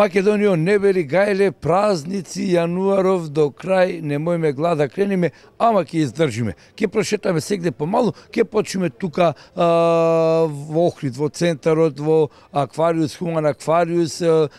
Македонијо не бери гајле, празници, јануаров до крај, немојме глада крениме, ама ќе издржиме. Ќе прошетаме сегде помалу, ќе почнеме тука во Охрид, во центарот, во Аквариус, Хуман Аквариус,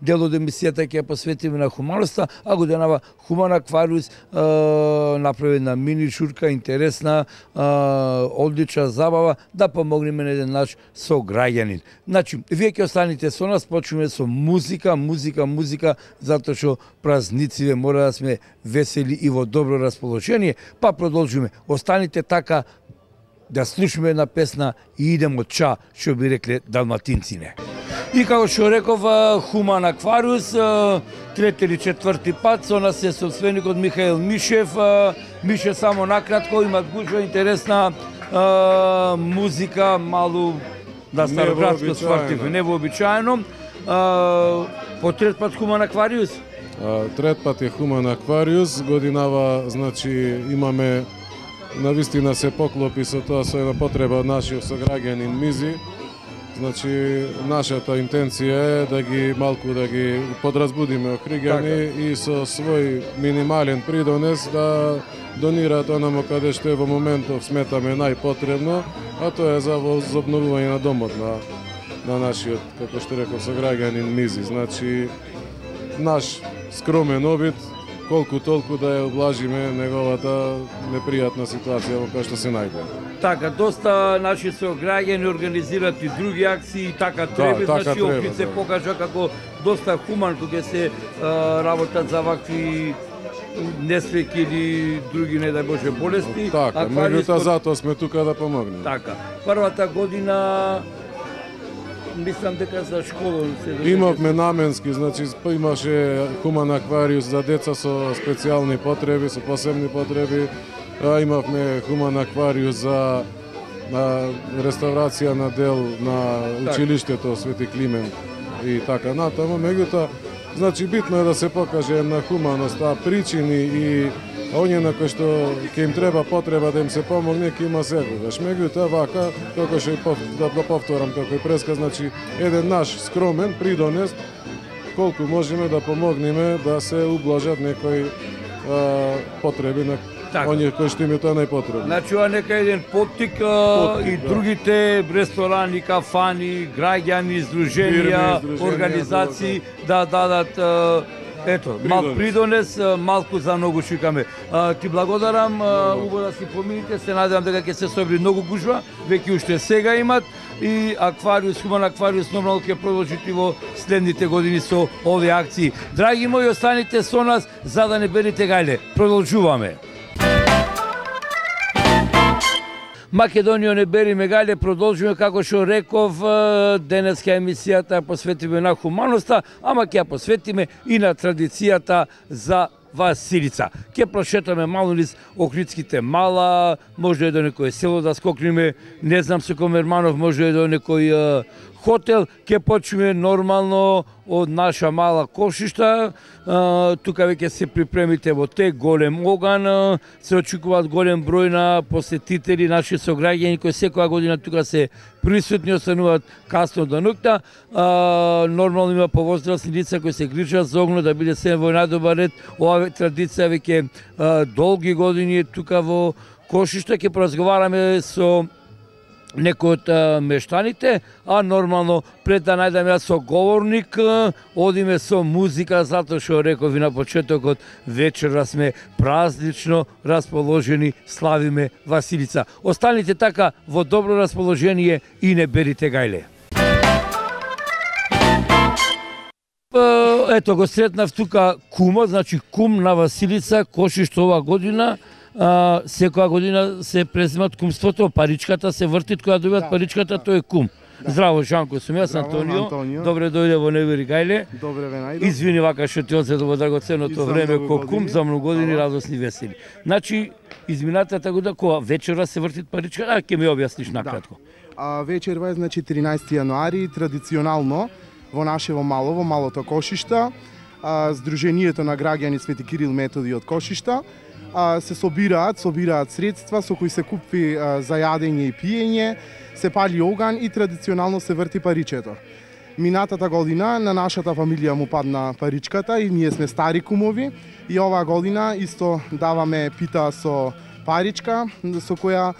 дел од емисијата ќе посветиме на хуманоста, а годинава Хуман Аквариус направи една мини шурка, интересна, одлична забава, да помогнеме на еден наш сограѓанин. Значи, вие ќе останете со нас, почнеме со музика, затоа што празниците мора да сме весели и во добро расположение, па продолжиме. Останите така да слушаме една песна и идемо од ча, што би рекле далматинците. И како што реков, Хуман Аквариус, трети или четврти пат, со нас е собственикот Михаил Мишев. Мише, само накратко, имат гужва интересна музика, малу да староградско спортивно, невообичаено. По трет пат Хуман Аквариус? Трет пат е Хуман Аквариус, годинава, значи, имаме навистина се поклопи со тоа, со една потреба од нашиот сограѓанин Мизи. Значи, нашата интенција е да ги малку да ги подразбудиме охриѓани и со свој минимален придонес да донираат онамо каде што е во моментов сметаме најпотребно, а тоа е за возобновување на домот на нашиот, како што реков, сограѓанин Мизи. Значи, наш скромен обид, колку толку да ја облажиме неговата непријатна ситуација во која што се најде. Така, доста наши сограѓани организираат и други акции, така треба, значи Охрид се покажа како доста хуман кога се работат за вакви несреќи или други, не дај Боже, болести. Така, меѓутоа затоа сме тука да помогнеме. Така, првата година мислам дека за школа се имавме наменски, значи имаше Хуман Аквариус за деца со специјални потреби, со посебни потреби. Имавме Хуман Аквариус за реставрација на дел на училиштето Свети Климент и така натаму. Меѓутоа, значи битно е да се покаже на хуманост, причини и оние на кои што ќе им треба потреба да им се помогне, ќе има секогаш. Меѓутоа, вака, како што да повторам како и преска, значи еден наш скромен придонес колку можеме да помогнеме да се ублажат некои потреби на оние кои што им е тоа најпотребно. Значи, ова нека еден поттик и другите ресторани, кафани, граѓани, издруженија, организации да дадат мал придонес, малку за многу шикаме. Ти благодарам, убаво да си помините, се надевам дека ќе се собри многу гужва, веќе уште сега имат и Аквариус, Хуман Аквариус нормално ќе продолжите во следните години со овие акции. Драги мои, останите со нас за да не берите гајле. Продолжуваме. Македонијо не бериме гајле, продолжуваме како што реков, денеска емисијата посветиме на хуманоста, ама ќе ја посветиме и на традицијата за Василица. Ќе прошетаме мало низ Охридските мала, може и до некој село да скокнеме, не знам со Комерманов, може и до некој хотел, ќе почнеме нормално од наша мала Кошишта. Тука веќе се припремите во те голем оган, се очекуваат голем број на посетители, наши сограѓани кои секоја година тука се присутни, остануваат касно до ноќта. Нормално има повозрасни лица кои се грижат за огно да биде се во најдобар ред. Ова традиција веќе долги години тука во Кошишта. Ќе поразговараме со некој од мештаните, а нормално пред да најдам јас соговорник, одиме со музика, затоа што реков и на почетокот, вечера сме празнично расположени, славиме Василица. Останите така во добро расположение и не берите гајле. Ето го сретнав тука кума, значи кум на Василица, Кошиште ова година. Секоја година се преземат кумството, паричката се вртит, која добиват паричката, тој е кум. Здраво, Жанко, сум јас, Антонио. Добре дојде во Небери гајле. Добре ве најдов. Извини вака што ти одзедо во драгоценното време ко кум за многу години радосни весели. Значи, изминатата година кога вечера се вртит паричката, ќе ми објасниш накратко. Вечерва е, значи, 13 јануари, традиционално во нашево мало, во малото Кошишта, Сдруженијето на граѓани Свети Кирил Методи од Кошишта, се собираат средства со кои се купи за јадење и пиење, се пали оган и традиционално се врти паричето. Минатата година на нашата фамилија му падна паричката и ние сме стари кумови и оваа година исто даваме пита со паричка со која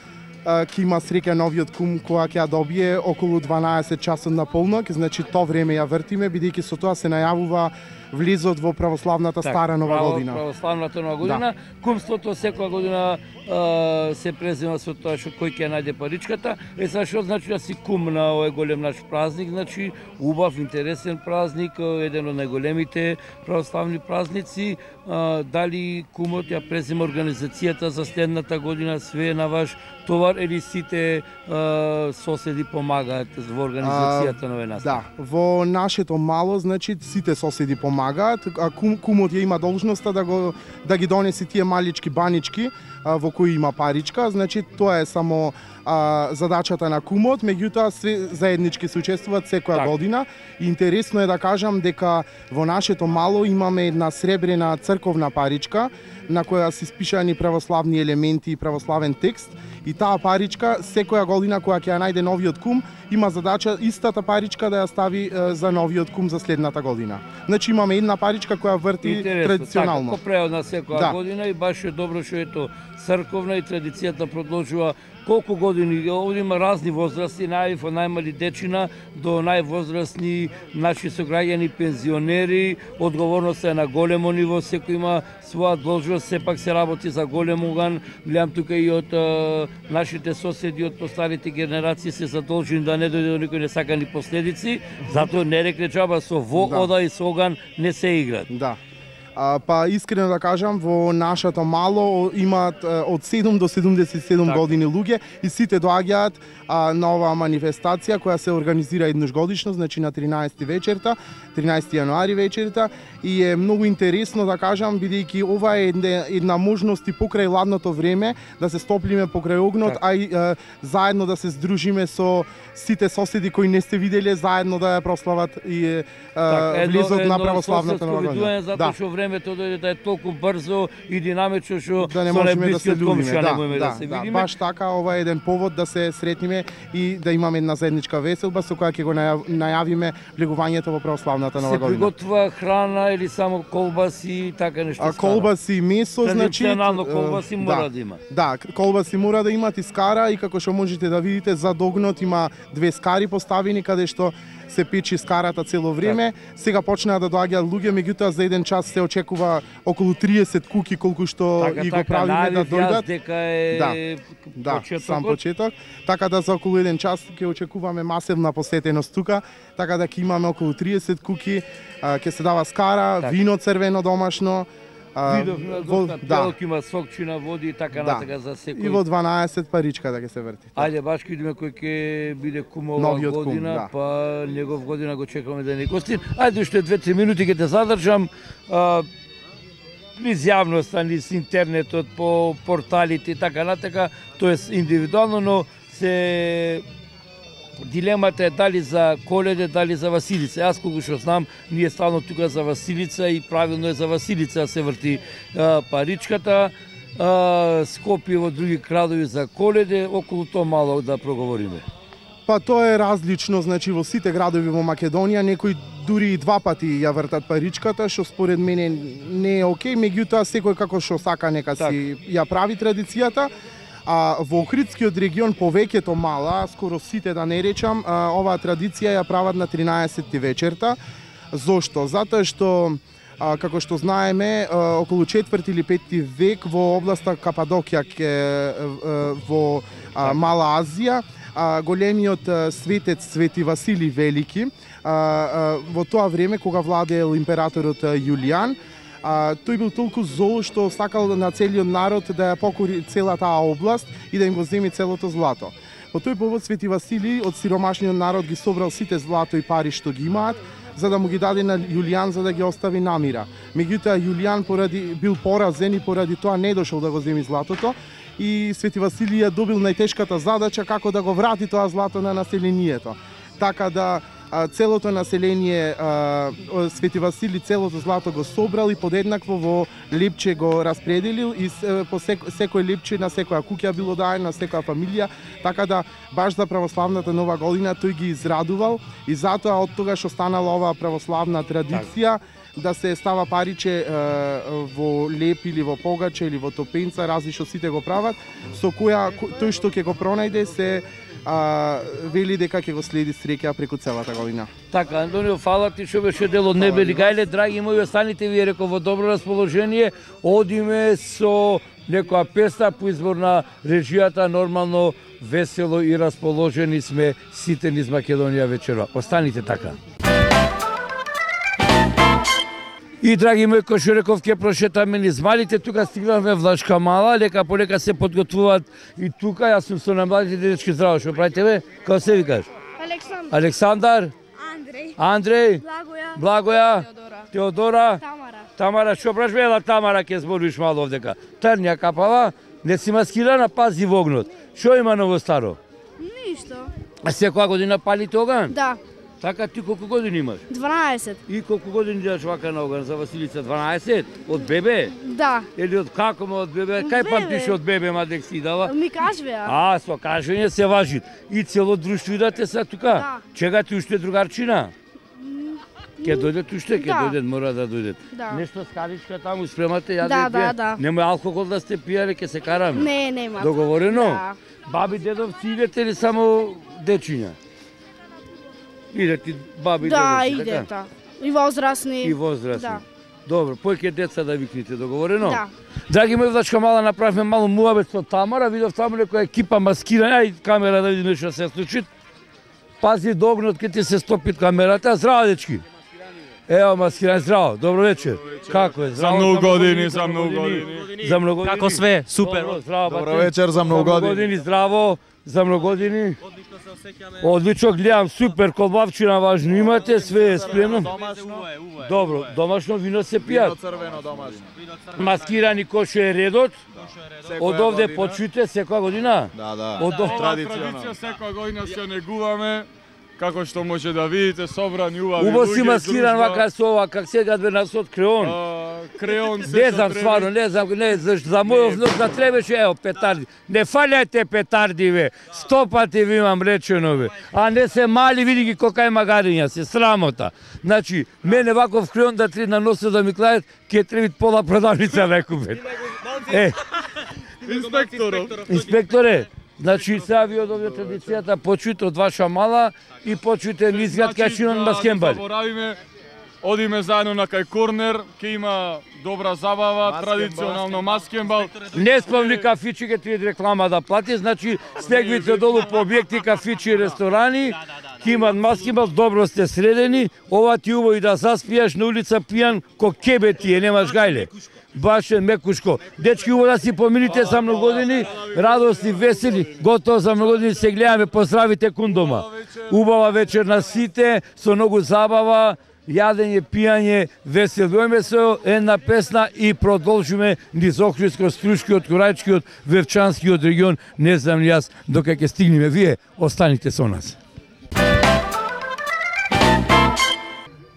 ќе има среќа новиот кум која ќе ја добие околу 12 часот на полнок, значи то време ја вртиме бидејќи со тоа се најавува влезот во православната стара нова година. Православната нова година, кумството секоја година се презема со тоа што кој ќе најде паричката. Сега што значи да си кум на овој голем наш празник, значи убав, интересен празник, еден од најголемите православни празници. Дали кумот ја презема организацијата за следната година, све е на ваш товар или сите соседи помагаат во организацијата на овој настан? Да, во нашето мало, значи сите соседи помагаат, а кумот ја има должноста да ги донеси тие малички банички во кои има паричка, значи тоа е само задачата на кумот, меѓутоа све заеднички се учествуваат секоја година. И интересно е да кажам дека во нашето мало имаме една сребрена црковна паричка на која се испишани православни елементи и православен текст, и таа паричка секоја година кога ќе ја најде новиот кум има задача истата паричка да ја стави за новиот кум за следната година. Значи имаме една паричка која врти традиционално. Така, преодна секоја година и баш е добро што ето црковна и традицијата продолжува колку години. Овде има разни возрасти, од најмали дечина до највозрастни наши сограѓани, пензионери. Одговорноста е на големо ниво, секој има своја должност, сепак се работи за голем уган. Гледам тука и од нашите соседи од постарите генерации се задолжени да не дојде до никој несакани последици, затоа не рекле џаба со ода и со оган не се играат. Да. Па искрено да кажам, во нашето мало имаат од 7 до 77 години луѓе и сите доаѓаат на оваа манифестација која се организира еднаш годишно, значи на 13 вечерта, 13 јануари вечерта, и е многу интересно да кажам бидејќи ова е една можност и покрај ладното време да се стоплиме покрај огнот, а и заедно да се здружиме со сите соседи кои не сте виделе, заедно да ја прослават и влезот на православната нова година. Затоа што времето дојде да е толку брзо и динамично што да не можеме да се љубиме, да се видиме. Баш така, ова е еден повод да се сретниме и да имаме една заедничка веселба со која ќе го најавиме влегувањето во православната нова година. Се приготвува храна или само колбаси и така нешто? Колбаси, месо, значи традиционално колбаси мора да има. Да, колбаси мора да имат и скара, и како што можете да видите за догнот има две скари поставени каде што се печи скарата цело време. Сега почнаа да доаѓаат луѓе, меѓутоа за еден час се очекува околу 30 куки колку што и го правиме да дојдат. Дека е сам почеток. Така да за околу еден час ќе очекуваме масивна посетеност тука, така да ќе имаме околу 30 куки, ќе се дава скара, вино црвено домашно. Видовме телки има сокчина, води и така натака за секој. И во 12 паричка да ќе се врти. Ајде баш ќе видиме кој ќе биде кум оваа година, па негов година го чекаме да ни гости. Ајде уште 2-3 минути ќе те задржам. Низ јавноста, низ интернетот, по порталите и така натака, тоест индивидуално, но се дилемата е дали за Коледе, дали за Василица. Јас колку што знам, ние стално тука за Василица и правилно е за Василица да се врти паричката. Скопје во други градови за Коледе, околу тоа мало да проговориме. Па тоа е различно, значи во сите градови во Македонија некои дури и 2 пати ја вртат паричката, што според мене не е окей, меѓутоа секој како што сака нека си ја прави традицијата. Во Охридскиот регион повеќето мала, скоро сите да не речам, оваа традиција ја прават на 13 вечерта. Зошто? Затоа што како што знаеме, околу 4 или 5 век во областа Кападокија во Мала Азија, големиот светец Свети Василий Велики, во тоа време кога владеел императорот Јулијан, тој бил толку зол што сакал на целиот народ да ја покори целата таа област и да им го земи целото злато. По тој повод Свети Василий од сиромашниот народ ги собрал сите злато и пари што ги имаат, за да му ги даде на Јулијан за да ги остави намира. Меѓутоа Јулијан бил поразен и поради тоа не дошол да го земи златото и Свети Василий ја добил најтешката задача како да го врати тоа злато на населението. Така да целото население Свети Васили целото злато го собрал и подеднакво во лепче го распределил и по секој лепче на секоја куќа било даено, на секоја фамилија, така да баш за православната нова година тој ги израдувал и затоа од тогаш останала оваа православна традиција да се става париче во леп или во погаче или во топенца, различно сите го прават, со која тој што ќе го пронајде се вели дека ќе го следи среќа преку целата година. Така, Антонио, фала ти што беше дел од небе. Гајле, драги мои, останите ви реков во добро расположение. Одиме со некоја песна по избор на режијата, нормално, весело и расположени сме сите низ Македонија вечерва. Останите така. И, драги мои, кој што реков, ќе прошетаме низ малите, тука стигнавме Влашка мала, лека полека се подготвуваат и тука, јас сум со на младите дечки, здраво, што правите бе? Како се викаш? Александар. Александар? Андреј? Благоја? Теодора? Тамара, што праш бела Тамара, ќе збориш мало овдека. Трнја капава, не си маскирана, пази во огнот. Што има ново старо? Ништо. А секоја година палите оган? Да. Така, ти колку години имаш? 12. И колку години дадеш вака на оган за Василица? 12? Од бебе? Да. Или од како од бебе? Кај памтиш од бебе, мадек си дала? Ми кажве, Со кажење се важи. И цело друштво идате са тука? Да. Чега ти уште другарчина? Ке дојдет уште? Ке дојдет, мора да дојдет. Да. Нешто скаричка таму спремате, јаде пие? Да. Немој алкохол да сте пијале, ке се караме? Не, нема. Договорено? Да. Баби, дедовци идете или само дечиња? Идете баби, Да, дедовци, идете. така? И возрастни. И возрастни. Да. Добро, појќе деца да викнете, договорено? Да. Драги мои, Влашка мала, направивме мало муабет со Тамара, видов таму некоја екипа маскирана, ај камера да видиме што се случи. Пази до огнот ке ти се стопи камерата. Здраво, дечки. Ево, маскиран, здраво, добро вечер. Како е? За многу години, за многу години. За многу години. Како све? Супер. Добро, здраво, Добро бате. вечер, за многу години. Здраво, за многу години. Одлично гледам, супер, колбавчина важно имате, све е спремно. Добро, домашно вино се пијат. Црвено домашно. Маскирани кој е редот. Од овде почуте секоја година? Да. Од овде Традиција секоја година се негуваме. Како што може да видите, собрани убави Убаво си луѓе, маскиран дружба. вака со ова, как сега две нас од креон. Креон се Не што знам треба. стварно, не знам, не, за мојов внук да требаше, ево, петарди. Не фалјајте петарди, бе. 100 пати ви имам речено, бе. А не се мали, види ги колка е магариња, се срамота. Значи, мене ваков креон да три на носот да ми клајат, ке требит пола продавница да купет. Инспекторе, значи сега ви од овде традицијата почујте од ваша мала и почујте мизгат кај маскембали. Заборавиме, одиме заедно на кај корнер, ќе има добра забава, традиционално маскембал. Не спомни кафичи, ке ти реклама да плати, значи стегвите долу по објекти, кафичи и ресторани, ке имат маскембал, добро сте средени, ова ти убаво и да заспијаш на улица пијан, ко кебе ти е, немаш гајле. Баш е мекушко. Дечки, убаво да си помините за многу години, радосни, весели, готово за многу години се гледаме, поздравите кун дома. Убава вечер на сите, со многу забава, јадење, пијање, веселуваме се, една песна и продолжиме низ Охридско, Струшкиот, Курајчкиот, Вевчанскиот регион, не знам ли јас, дока ќе стигнеме. Вие останите со нас.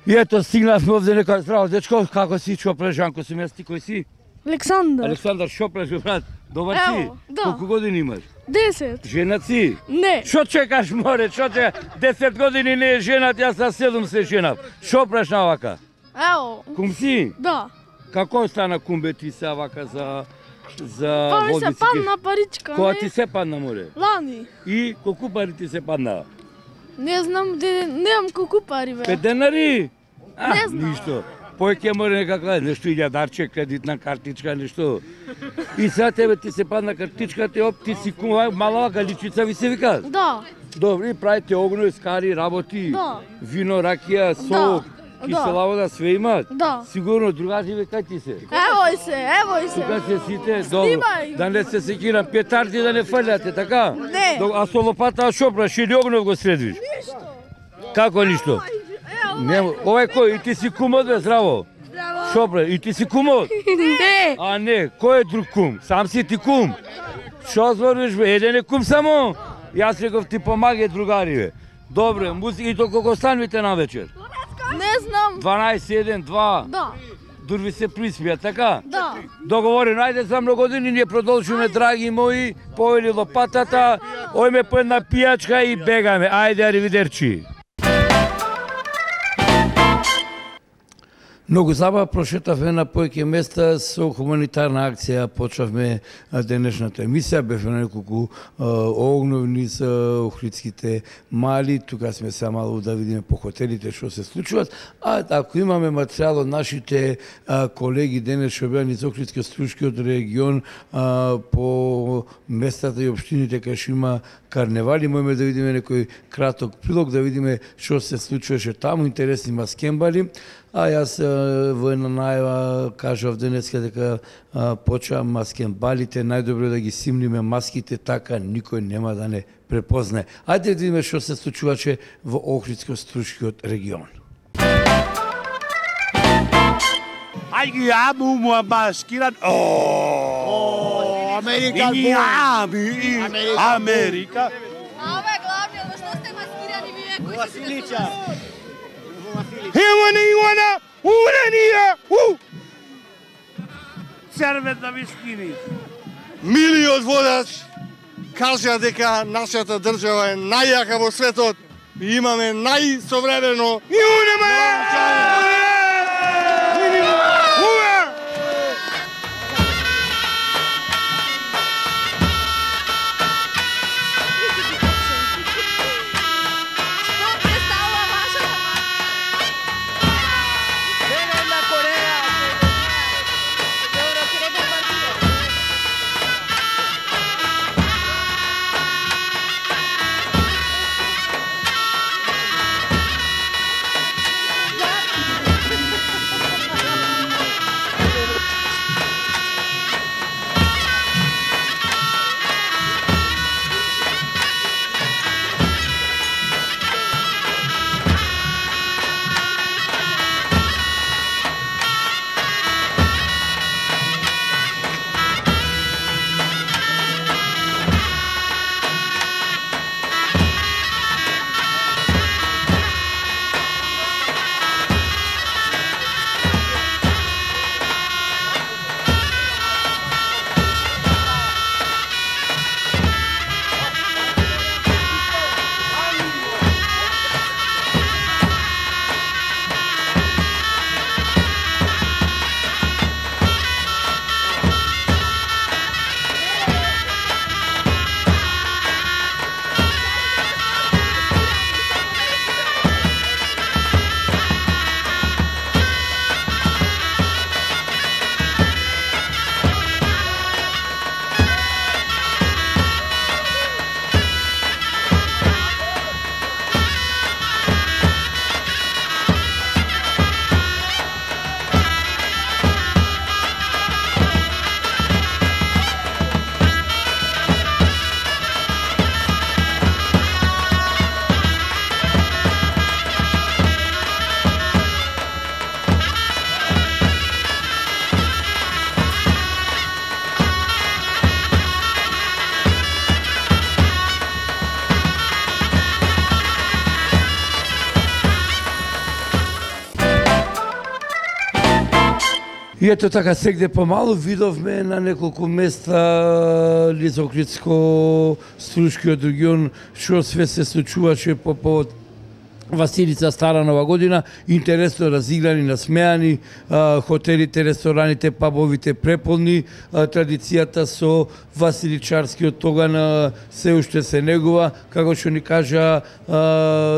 И ето стигнавме овде некој здраво дечко, како си, што преш, Жанко си мести, кој си? Александар. Александар, што преш, брат? Добар си? Ево, да. Колку години имаш? 10. Женат си? Не. Што чекаш, море, што чекаш? 10 години не е женат, јас на 7 се женав. Што преш на вака? Ево. Кум си? Да. Како стана кумбе ти се вака за Па ми се водици? падна паричка, Кога не? ти се падна, море? Лани. И колку пари ти се падна? Не знам, немам колку пари, бе. 5 денари? Не знам. Ништо. Појќе море некаква, нешто илјадарче, кредитна картичка, нешто. И сега тебе ти се падна картичката, оп, ти си кума, мала галичица ви се вика? Да. Добро, и правите огно, скари, работи, Да. вино, ракија, сок, кисела вода, све имаат? Да. Сигурно, другари ве кај ти се? Евој се. Тука се сите, добро. Снимај. Да не се секирам, петарди да не фрлјате, така? Не. А со лопата шо праш, или огнов го средвиш? Ништо. Како ништо? Нема, овај кој, и ти си кумот, бе, здраво? Здраво. Шо бре, и ти си кумот? Не. А не, кој е друг кум? Сам си ти кум? Шо збориш бе, еден е кум само? Јас реков ти помагај другари бе. Добре, музика и толку станувате на вечер? Не знам. 12, 1, 2. Да. Дурви се приспија, така? Да. Договорено, ајде за многу години ние продолжуваме, драги мои, поели лопатата, ојме по една пијачка и бегаме. Ајде, аривидерчи. Многу забава прошетавме на поеќе места со хуманитарна акција, почнавме денешната емисија, бевме на неколку огновни за Охридските мали, тука сме се мало да видиме по хотелите што се случуваат, а ако имаме материјал од нашите колеги денес што беа низ Охридско-Струшкиот регион по местата и општините кај што има карневали, можеме да видиме некој краток прилог, да видиме што се случуваше таму, интересни маскембали. А јас во една најава кажав денеска дека почвам маскембалите, најдобро да ги симниме маските, така никој нема да не препознае. Ајде да видиме што се случуваше во Охридско-Струшкиот регион. Ai che amo una maschera. Oh, America. America. A ove glavni, ali što ste maskirani vi koji Vasilića. Ивана, уранија! Сервет на вискини. Милиот водач кажа дека нашата држава е најјака во светот и имаме најсовремено И ето така сегде помалу видовме на неколку места низ Охридско-Струшкиот регион што све се случуваше по повод Василица Стара Нова година, интересно разиграни, насмеани, хотелите, рестораните, пабовите преполни, традицијата со Василичарскиот тоган се уште се негува, како што ни кажа,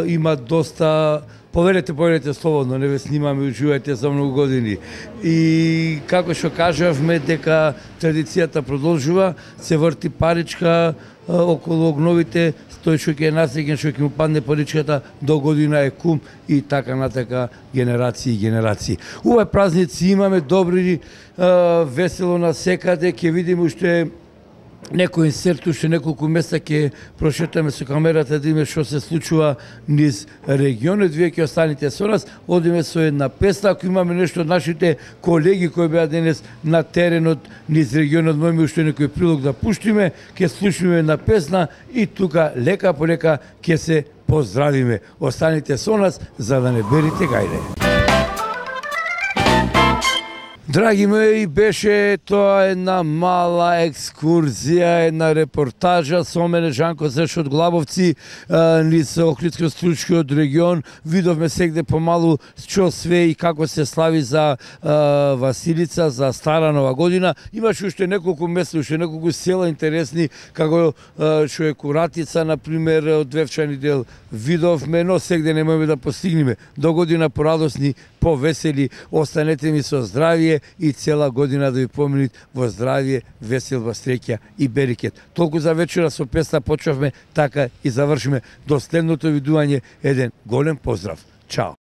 има доста. Поверете слободно, не ве снимаме, уживајте за многу години. И како што кажавме дека традицијата продолжува, се врти паричка околу огновите, тој што ќе е насреќен, што ќе му падне паричката, до година е кум и така натака генерации и генерации. Овој празници имаме добри, весело на секаде, ќе видиме уште некој инсерт, уште неколку места ќе прошетаме со камерата да видиме што се случува низ регионот. Вие ќе останете со нас, одиме со една песна. Ако имаме нешто од нашите колеги кои беа денес на теренот низ регионот, можеме уште некој прилог да пуштиме, ќе слушаме една песна и тука лека по лека ќе се поздравиме. Останете со нас за да не берите гајде. Драги мои, беше тоа една мала екскурзија, една репортажа со мене Жанко Зеш од Глабовци низ Охридско-Стручкиот регион. Видовме сегде помалу што све и како се слави за Василица, за Стара Нова година. Имаше уште неколку места, уште неколку села интересни, како што е Куратица, например, од Девчани дел видовме, но сегде не можеме да постигнеме. До година порадосни, повесели, останете ми со здравје и цела година да ви поминит во здравје, веселба, среќа и берекет. Толку за вечера со песна почнавме, така и завршиме. До следното видување, еден голем поздрав. Чао!